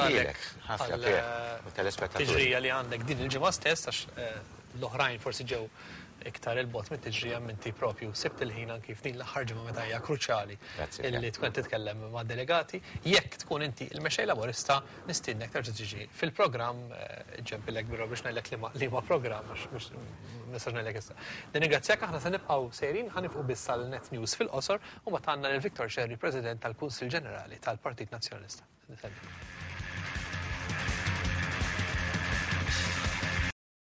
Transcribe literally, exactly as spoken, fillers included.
Lilek, ħafna Pier, u telespettaturi. Tiġrija li għandek din il-ġimgħa stess, għax eh, l-oħrajn forsi ġew iktar 'il bogħod mit-tiġrija, inti propju sibt il-ħin anki f'din l-aħħar ġimgħa meta hija kruċjali Grazzi, illi tkun titkellem ma' delegati. Jekk tkun inti il-mexxej Laburista, nistiednek terġa' tiġi fil-programm, eh, ġempillek biro biex ngħidlek li ma- li ma programm, għax mhux nistax ngħidlek issa. Nirringrazzjak, aħna se nibqgħu sejrin, ħa nieqfu biss għal Net News fil-qosor u mbagħad għandna lil Victor Scerri, President tal-Kunsill Ġenerali tal-Partit Nazzjonalista. Niselli.